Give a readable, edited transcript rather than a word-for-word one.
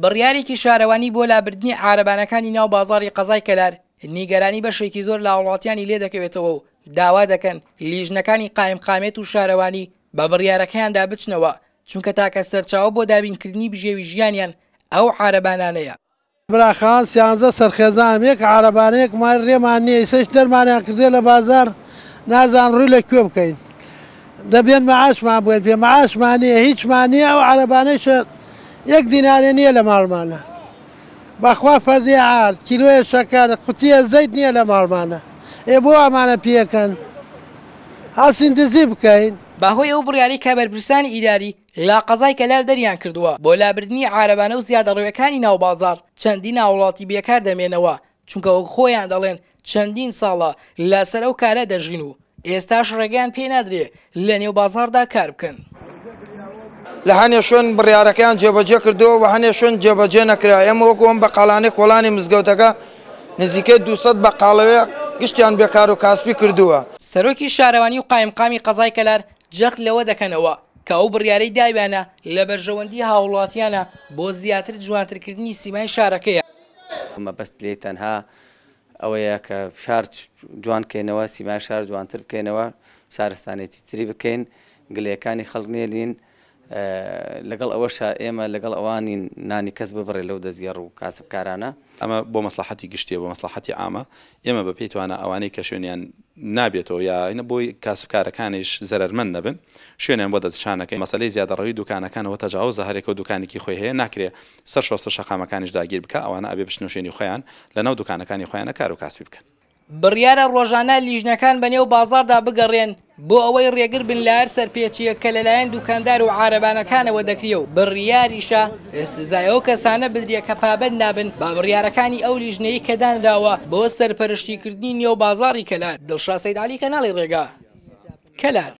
بڕیارێکی شارەوانی بۆ لابردنی عارەبانەکانی ناو بازاڕی قەزای کەلار نیگەرانی بەشێکی زۆر لە هاوڵاتیانی لێدەکەوێتەوە و داوا دەکەن لیژنەکانی قایمقامیەت و شارەوانی بە بڕیارەکەیاندا بچنەوە، چونکە تاکە سەرچاوە بۆ دابینکردنی بژێوی ژیانیان ئەو عارەبانانەیە. برا خان سیانزە سەر خێزانم یەک عارەبانە یەک مار رێمان نیە ئیسەش دەرمانیان کردیە لە بازار نازانم روی لە کوێ بکەین دەبێن معاشمان بگەن پێ معاشمان نیە هیچمان نیە ئەو عارەبانەیشە یەک دینارێ نیە لە ماڵمانە بەخوا فەردێ ئارد کیلۆیە شەکەر قوتیە زەیت نیە لە ماڵمانە ئێ بۆ ئەمانە پیەکەن هەڵسین دزی بکەین. بەهۆی ئەو بڕیارەی کە بەرپرسانی ئیداری لە قەزای کەلار دەریان کردووە بۆ لابردنی عارەبانە و زیادەڕەویەکانی ناو بازاڕ، چەندین هاوڵاتی بێکار دەمێنەوە، چونکە وەک خۆیان دەڵێن چەندین ساڵە لەسەر ئەو کارە دەژین و ئێستاش ڕێگەیان پێ نادرێ لە نێو بازاڕدا کار بکەن. لە هەنێ شوێن بڕیارەکەیان جێبەجێ کردووە و هەنێ شوێن جێبەجێ نەکرا، ئێمە وەکو ئەم بەقاڵانەی کۆڵانی مزگەوتەکە نزیکەی 200 بەقاڵەوێ گشتیان بێکار و کاسپی کردووە. سەرۆکی شارەوانی و قایمقامی قەزای کەلار جەخت لەوە دەکەنەوە کە ئەو بڕیارەی داویانە لە بەرژەوەندی هاووڵاتیانە بۆ زیاتر جوانترکردنی سیمای شارەکەیە. مەبەست لێی تەنها ئەوەیە کە شار جوان کەینەوە، سیمای شار جوانتر بکەینەوە، شارستانێتی تری بکەین، گلەیەکانی خەڵک نێلین، لەگەڵ ئەوەشا ئێمە لەگەڵ ئەوانین نانی کەس ببڕێ لەو دەستگێڕ و کاسبکارانە. ئەمە بۆ مەسڵەحەتی گشتیە، بۆ مەسڵەحەتی عامە، ئێمە بە پێی توانا ئەوانەی کە شوێنیان نابێتەوە یا بۆی کاسبکارەکانیش زەرەرمەند نەبن شوێنیان بۆ دەستنیشان ئەکەین، مەسەلەی زیادەڕەوی دوکانەکان ئەوە تەجاوزە هەرێکەو دوکانێکی خۆی هەیە ناکرێ سەر شۆستە شەقامەکانیش داگیر بکا ئەوانە ئەبێ بچنە شوێنی خۆیان لەناو دوکانەکانی خۆیانە کارو کاسبی بکەن. بڕیارە ڕۆژانە لیژنەکان بەنێو بازاڕدا بگەڕێن بۆ ئەوەی ڕێگر بن لە هەر سەرپێچییەک کە لەلایەن دوکاندار و عارەبانەکانەوە دەکرێ و بڕیاریشە سزای ئەو کەسانە بدرێ کە پابەند نابن بە بڕیارەکانی ئەو لیژنەی کە دانراوە بۆ سەرپەرشتیکردنی نێو بازاڕی کەلار. دڵشاد سەید عەلی کەناڵی ڕێگا، کەلار.